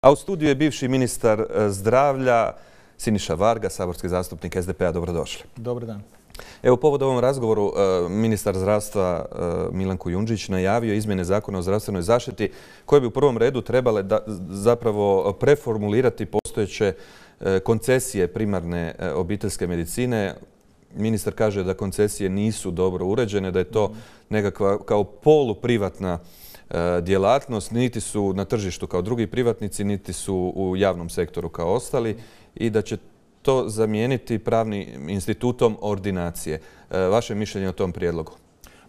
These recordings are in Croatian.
A u studiju je bivši ministar zdravlja Siniša Varga, saborski zastupnik SDP-a. Dobrodošli. Dobar dan. Evo, povod ovom razgovoru ministar zdravstva Milan Kujundžić najavio izmjene Zakona o zdravstvenoj zaštiti koje bi u prvom redu trebale zapravo preformulirati postojeće koncesije primarne obiteljske medicine. Ministar kaže da koncesije nisu dobro uređene, da je to nekakva kao poluprivatna djelatnost, niti su na tržištu kao drugi privatnici, niti su u javnom sektoru kao ostali i da će to zamijeniti pravnim institutom ordinacije. Vaše mišljenje o tom prijedlogu?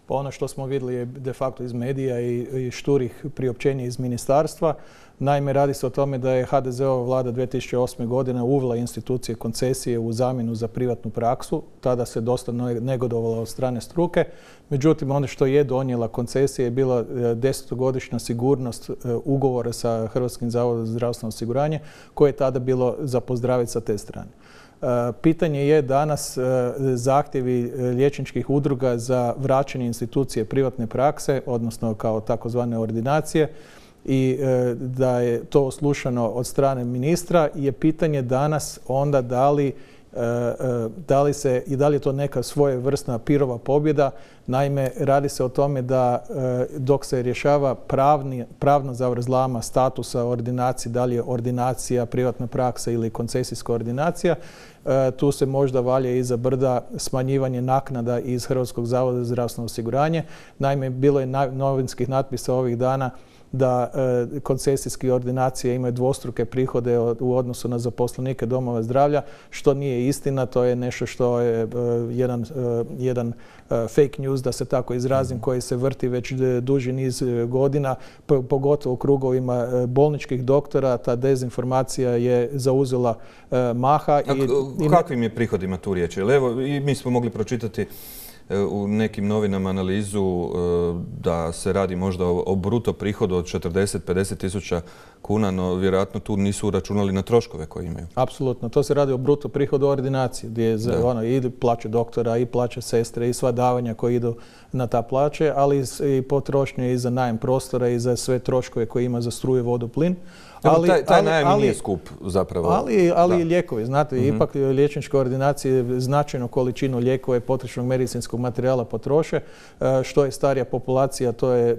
Pa ono što smo vidjeli je de facto iz medija i šturih priopćenja iz ministarstva. Naime, radi se o tome da je HDZ-ova vlada 2008. godine uvela institucije koncesije u zamjenu za privatnu praksu. Tada se dosta negodovalo od strane struke. Međutim, ono što je donijela koncesija je bila 10-godišnja sigurnost ugovora sa Hrvatskim zavodom za zdravstveno osiguranje, koje je tada bilo za pozdraviti sa te strane. Pitanje je danas zahtjevi liječničkih udruga za vraćanje institucije privatne prakse, odnosno kao takozvane ordinacije, i da je to oslušano od strane ministra, je pitanje danas onda da li je to neka svojevrsna pirova pobjeda. Naime, radi se o tome da dok se rješava pravna zavrzlama statusa ordinacije, da li je ordinacija privatna praksa ili koncesijska ordinacija, tu se možda valja iza brda smanjivanje naknada iz Hrvatskog zavoda za zdravstveno osiguranje. Naime, bilo je novinskih natpisa ovih dana da koncesijske ordinacije imaju dvostruke prihode u odnosu na zaposlenike domova zdravlja, što nije istina. To je nešto što je jedan fake news, da se tako izrazim, koji se vrti već duži niz godina, pogotovo u krugovima bolničkih doktora. Ta dezinformacija je zauzela maha. O kakvim je prihodima tu riječ? Evo, i mi smo mogli pročitati u nekim novinama analizu da se radi možda o bruto prihodu od 40-50 tisuća kuna, no vjerojatno tu nisu uračunali na troškove koje imaju. Apsolutno. To se radi o bruto prihodu ordinacije, gdje je i plaće doktora, i plaće sestre, i sva davanja koje idu na ta plaće, ali i potrošnje i za najam prostora i za sve troškove koje ima za struju, vodu, plin. Taj najam nije skup zapravo. Ali i lijekovi. Znate, ipak liječničke ordinacije značajnu količinu lijekova i potrošnog medicinskog materijala potroše. Što je starija populacija,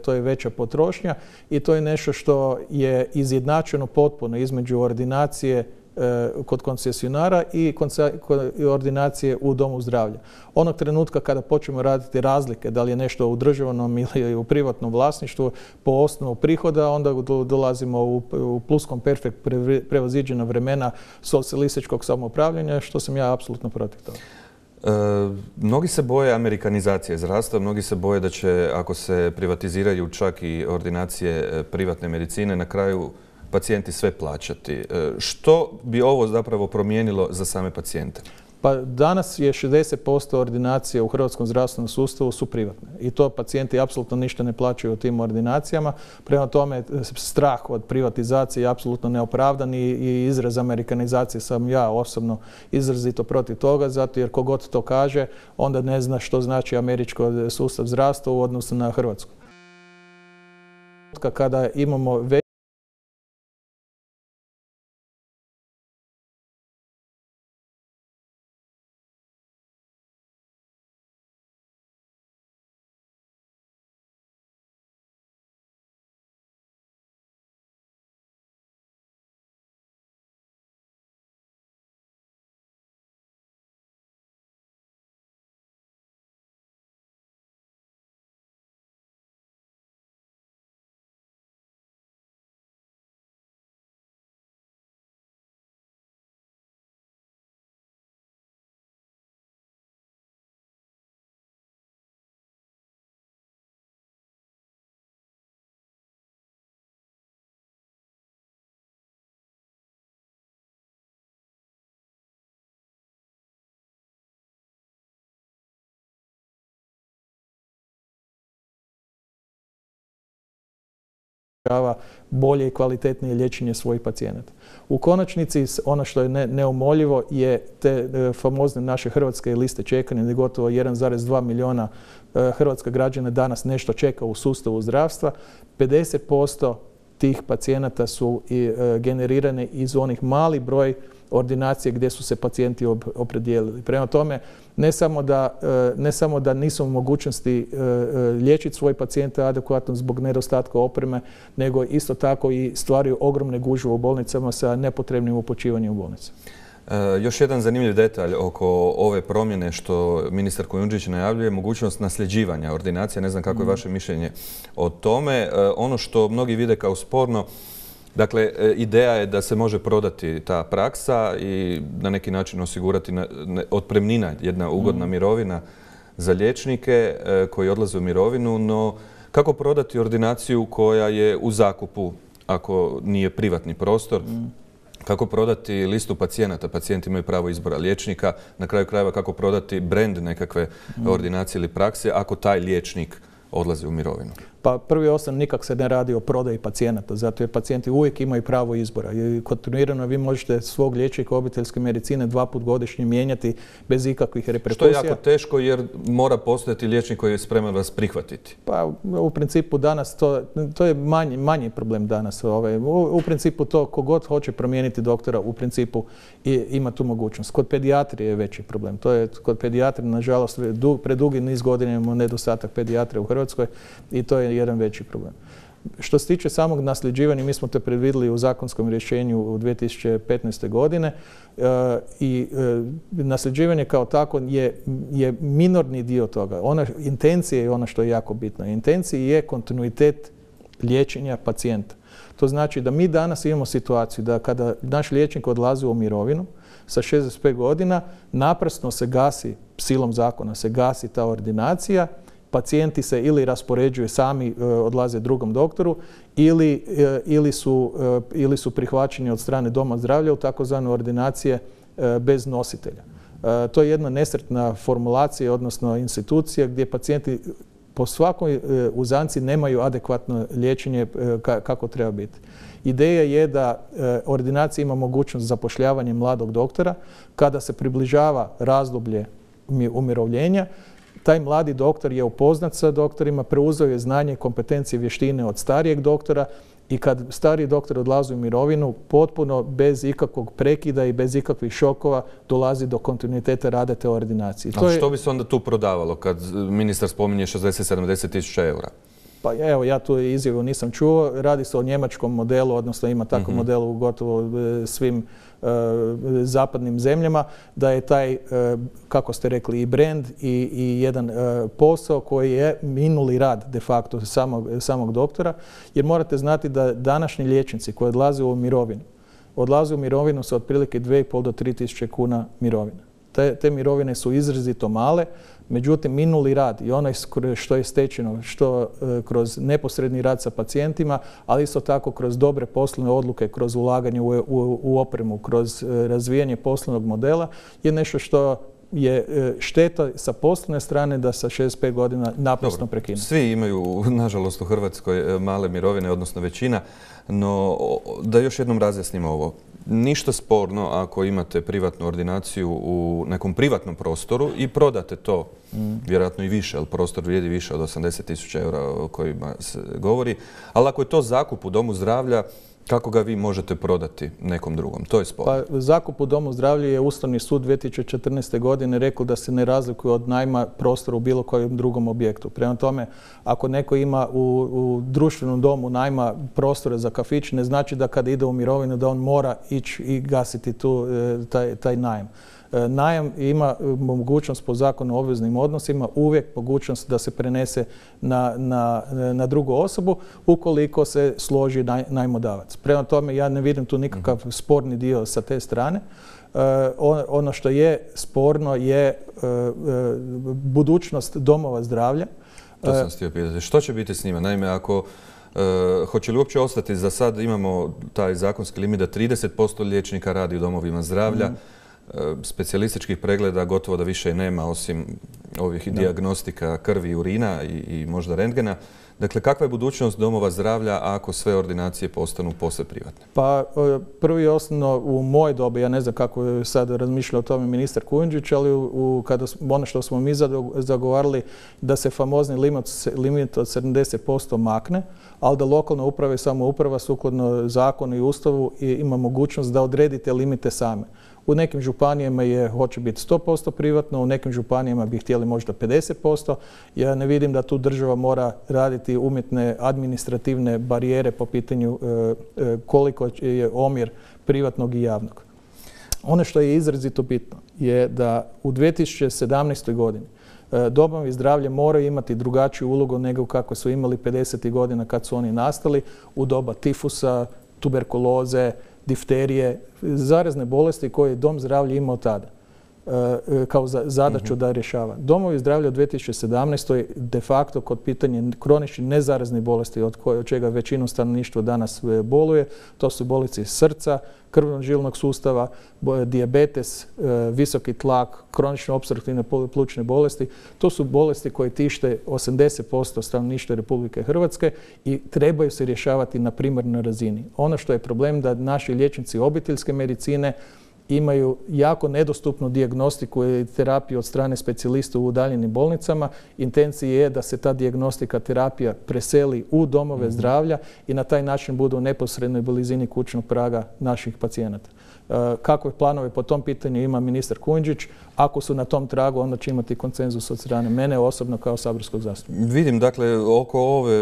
to je veća potrošnja i to je nešto što je izjednačeno potpuno između ordinacije kod koncesionara i ordinacije u domu zdravlja. Onog trenutka kada počnemo raditi razlike, da li je nešto u državnom ili u privatnom vlasništvu po osnovu prihoda, onda dolazimo u pluskom perfekt prevaziđena vremena socijalističkog samoupravljanja, što sam ja apsolutno protiv toga. Mnogi se boje amerikanizacije zdravstva, mnogi se boje da će, ako se privatiziraju čak i ordinacije privatne medicine, na kraju pacijenti sve plaćati. Što bi ovo zapravo promijenilo za same pacijente? Pa danas je 60% ordinacija u hrvatskom zdravstvenom sustavu su privatne i to pacijenti apsolutno ništa ne plaćaju u tim ordinacijama. Prema tome, strah od privatizacije je apsolutno neopravdan i izraz amerikanizacije sam ja osobno izrazito protiv toga, zato jer kogod to kaže, onda ne zna što znači američki sustav zdravstva u odnosu na Hrvatsku. Kada imamo bolje i kvalitetnije liječenje svojih pacijenata. U konačnici, ono što je neumoljivo je te famozne naše hrvatske liste čekanja, gdje gotovo 1,2 milijuna hrvatskih građana danas nešto čeka u sustavu zdravstva. 50% tih pacijenata su generirane iz onih mali broj ordinacije gdje su se pacijenti opredijelili. Prema tome, ne samo da nisu u mogućnosti liječiti svoje pacijente adekvatno zbog nedostatka opreme, nego isto tako i stvaraju ogromne gužve u bolnicama sa nepotrebnim upućivanjem u bolnice. Još jedan zanimljiv detalj oko ove promjene što ministar Kujundžić najavljuje, mogućnost nasljeđivanja ordinacija. Ne znam kako je vaše mišljenje o tome. Ono što mnogi vide kao sporno, dakle, ideja je da se može prodati ta praksa i na neki način osigurati otpremnina, jedna ugodna mirovina za liječnike koji odlaze u mirovinu, no kako prodati ordinaciju koja je u zakupu ako nije privatni prostor? Kako prodati listu pacijenata? Pacijenti imaju pravo izbora liječnika. Na kraju krajeva kako prodati brand nekakve ordinacije ili prakse ako taj liječnik odlazi u mirovinu? Pa prvi osnovno nikak se ne radi o prodaji pacijenata, zato jer pacijenti uvijek imaju pravo izbora. I kontinuirano vi možete svog liječnika obiteljske medicine 2 puta godišnje mijenjati bez ikakvih reperkusija. Što je jako teško jer mora postojati liječnik koji je spreman vas prihvatiti. Pa u principu danas to je manji problem danas. U principu to kogod hoće promijeniti doktora u principu ima tu mogućnost. Kod pedijatrije je veći problem. To je kod pedijatrije nažalost predugi niz godina imamo nedostatak pedijatrije u Hrvatskoj i to je jedan veći problem. Što se tiče samog nasljeđivanja, mi smo to predvidjeli u zakonskom rješenju u 2015. godine i nasljeđivanje kao tako je minorni dio toga. Intencija je ono što je jako bitno. Intencija je kontinuitet liječenja pacijenta. To znači da mi danas imamo situaciju da kada naš liječnik odlazi u mirovinu sa 65 godina, naprasno se gasi, silom zakona se gasi ta ordinacija, pacijenti se ili raspoređuju sami, odlaze drugom doktoru ili su prihvaćeni od strane doma zdravlja u takozvane ordinacije bez nositelja. To je jedna nesretna formulacija, odnosno institucija gdje pacijenti po svakoj uzanci nemaju adekvatno liječenje kako treba biti. Ideja je da ordinacija ima mogućnost zapošljavanja mladog doktora kada se približava razdoblje umirovljenja. Taj mladi doktor je upoznat sa doktorima, preuzeo je znanje, kompetencije, vještine od starijeg doktora i kad stariji doktor odlazi u mirovinu, potpuno bez ikakvog prekida i bez ikakvih šokova dolazi do kontinuiteta rada te ordinacije. A što bi se onda tu prodavalo kad ministar spominje 60-70 tisuća eura? Pa evo, ja tu izjavu nisam čuo. Radi se o njemačkom modelu, odnosno ima takav model u gotovo svim zapadnim zemljama, da je taj, kako ste rekli, i brand i jedan posao koji je minuli rad de facto samog doktora. Jer morate znati da današnji liječnici koji odlaze u mirovinu sa otprilike 2,5 do 3 tisuće kuna mirovina. Te mirovine su izrazito male, međutim minuli rad i onaj što je stečeno, što kroz neposredni rad sa pacijentima, ali isto tako kroz dobre poslovne odluke, kroz ulaganje u opremu, kroz razvijanje poslovnog modela je nešto što je šteta sa poslovne strane da sa 65 godina naprosto prekine. Svi imaju, nažalost, u Hrvatskoj male mirovine, odnosno većina, no da još jednom razjasnimo ovo. Ništa sporno ako imate privatnu ordinaciju u nekom privatnom prostoru i prodate to, vjerojatno i više, jer prostor vrijedi više od 80 tisuća eura o kojima se govori, ali ako je to zakup u domu zdravlja, kako ga vi možete prodati nekom drugom? To je sporno. Pa zakup u domu zdravlja je Ustavni sud 2014. godine rekao da se ne razlikuje od najma prostora u bilo kojem drugom objektu. Prema tome, ako neko ima u društvenom domu najma prostora za kafić, ne znači da kada ide u mirovinu da on mora ići i gasiti taj najam. Najam ima mogućnost po zakonu o obveznim odnosima uvijek mogućnost da se prenese na drugu osobu ukoliko se složi najmodavac. Prema tome ja ne vidim tu nikakav sporni dio sa te strane. Ono što je sporno je budućnost domova zdravlja. To sam htio pitati. Što će biti s njima? Naime, ako hoće li uopće ostati, za sad imamo taj zakonski limit da 30% liječnika radi u domovima zdravlja, specijalističkih pregleda gotovo da više i nema osim ovih dijagnostika krvi i urina i možda rentgena. Dakle, kakva je budućnost domova zdravlja ako sve ordinacije postanu posve privatne? Pa prvi osnovno u moje dobe, ja ne znam kako je sad razmišljao o tome ministar Kujundžić, ali ono što smo mi zagovarali da se famozni limit od 70% makne, ali da lokalna uprava i samouprava sukladno zakonu i ustavu ima mogućnost da odredi te limite same. U nekim županijama hoće biti 100% privatno, u nekim županijama bi htjeli možda 50%. Ja ne vidim da tu država mora raditi umjetne administrativne barijere po pitanju koliko je omjer privatnog i javnog. Ono što je izrazito bitno je da u 2017. godini domovi zdravlja moraju imati drugačiju ulogu nego kako su imali 50. godina kad su oni nastali u doba tifusa, tuberkuloze, difterije, zarazne bolesti koje je dom zdravlja imao tada kao zadaću da rješava. Domovi zdravlja u 2017. de facto kod pitanja kroničnih nezaraznih bolesti od čega većinu stanovništva danas boluje, to su bolesti srca, krvno-žilnog sustava, dijabetes, visoki tlak, kronično opstruktivne plućne bolesti. To su bolesti koje tište 80% stanovništva Republike Hrvatske i trebaju se rješavati na primarnoj razini. Ono što je problem da naši liječnici obiteljske medicine imaju jako nedostupnu dijagnostiku i terapiju od strane specijalista u udaljenim bolnicama. Intencija je da se ta dijagnostika, terapija preseli u domove zdravlja i na taj način budu u neposrednoj blizini kućnog praga naših pacijenata. Kakve planove po tom pitanju ima ministar Kujundžić? Ako su na tom tragu, onda će imati konsenzus od strane mene osobno kao saborskog zastupnika. Vidim, dakle, oko ove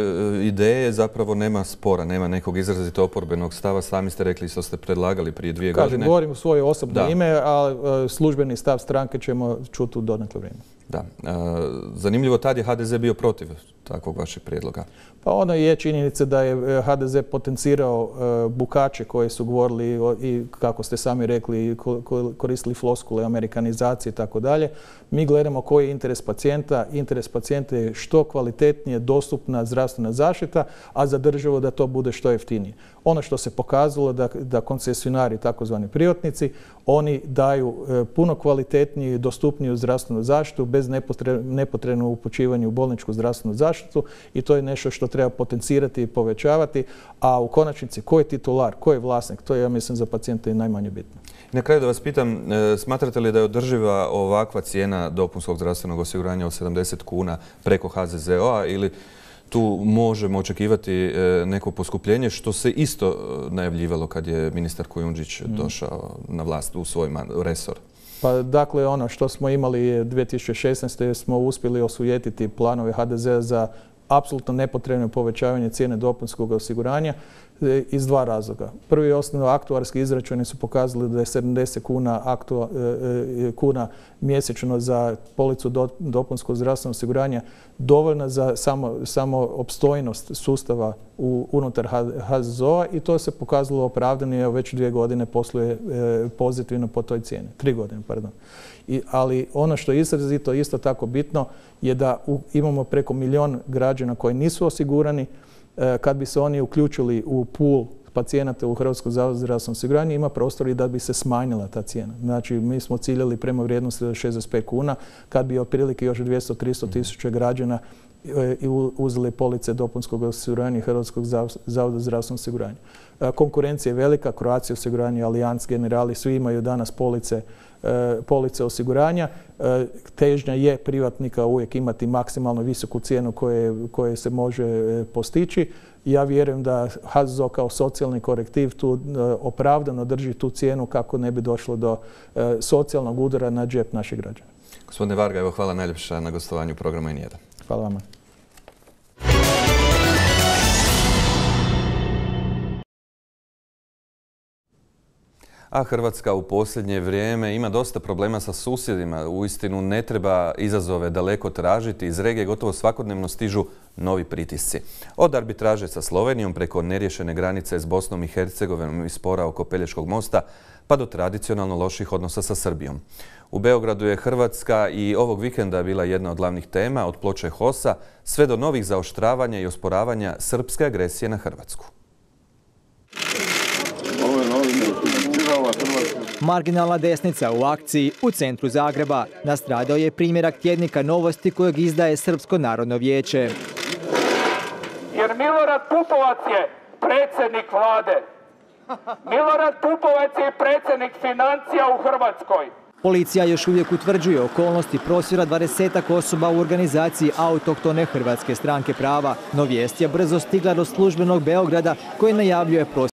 ideje zapravo nema spora, nema nekog izrazito oporbenog stava. Sami ste rekli što ste predlagali prije 2 godine. Kažem, govorim u svoje osobno ime, a službeni stav stranke ćemo čuti u dodatno vrijeme. Da. Zanimljivo, tad je HDZ bio protiv takvog vašeg prijedloga. Pa ono je činjenica da je HDZ potencirao bukače koji su govorili i, kako ste sami rekli, koristili floskule amerikanizacije i tako dalje. Mi gledamo koji je interes pacijenta. Interes pacijenta je što kvalitetnije dostupna zdravstvena zaštita, a za državu da to bude što jeftinije. Ono što se pokazalo da koncesionari, takozvani privatnici, oni daju puno kvalitetniju i dostupniju zdravstvenu zaštitu bez nepotrebnog upućivanja u bolničku zdravstvenu zaštitu i to je nešto što treba potencirati i povećavati, a u konačnici ko je titular, ko je vlasnik, to je, ja mislim, za pacijenta i najmanje bitno. Na kraju da vas pitam, smatrate li da je održiva ovakva cijena dopunskog zdravstvenog osiguranja od 70 kuna preko HZZO-a ili tu možemo očekivati neko poskupljenje, što se isto najavljivalo kad je ministar Kujundžić došao na vlast u svoj resor? Pa dakle, ono što smo imali 2016. smo uspjeli osujetiti planove HDZ-a za apsolutno nepotrebno povećavanje cijene dopunskog osiguranja iz 2 razloga. Prvi i osnovno, aktuarski izračuni su pokazali da je 70 kuna mjesečno za policu dopunskog zdravstvenog osiguranja dovoljna za samo opstojnost sustava unutar HZZO-a i to se pokazalo opravdano i već 2 godine posluje pozitivno po toj cijeni. 3 godine, pardon. Ali ono što je izrazito isto tako bitno je da imamo preko 1 milijun građana koji nisu osigurani. Kad bi se oni uključili u pool pacijenata u Hrvatskom zavodu za zdravstveno osiguranje, ima prostor i da bi se smanjila ta cijena. Znači, mi smo ciljali prema vrijednosti od 65 kuna, kad bi otprilike još 200-300 tisuća građana uzeli police dopunskog osiguranja Hrvatskog zavoda za zdravstveno osiguranje. Konkurencija je velika, Croatia osiguranje, Allianz, Generali, svi imaju danas police osiguranja. Težnja je privatnika uvijek imati maksimalno visoku cijenu koje se može postići. Ja vjerujem da HZZO kao socijalni korektiv tu opravdano drži tu cijenu kako ne bi došlo do socijalnog udara na džep naših građana. Gospodine Varga, evo hvala najljepša na gostovanju programa N1. Hvala vama. A Hrvatska u posljednje vrijeme ima dosta problema sa susjedima. Uistinu ne treba izazove daleko tražiti. Iz regije gotovo svakodnevno stižu novi pritisci. Od arbitraže sa Slovenijom preko neriješene granice s Bosnom i Hercegovinom i spora oko Pelješkog mosta, pa do tradicionalno loših odnosa sa Srbijom. U Beogradu je Hrvatska i ovog vikenda bila jedna od glavnih tema, od ploče HOS-a sve do novih zaoštravanja i osporavanja srpske agresije na Hrvatsku. Marginalna desnica u akciji u centru Zagreba. Nastradao je primjerak tjednika Novosti kojeg izdaje Srpsko narodno vijeće. Milorad Pupovac je predsjednik vlade. Milorad Pupovac je predsjednik financija u Hrvatskoj. Policija još uvijek utvrđuje okolnosti prosvjeda 20-ak osoba u organizaciji autohtone Hrvatske stranke prava. No vijest je brzo stigla do službenog Beograda koji najavljuje prosvjed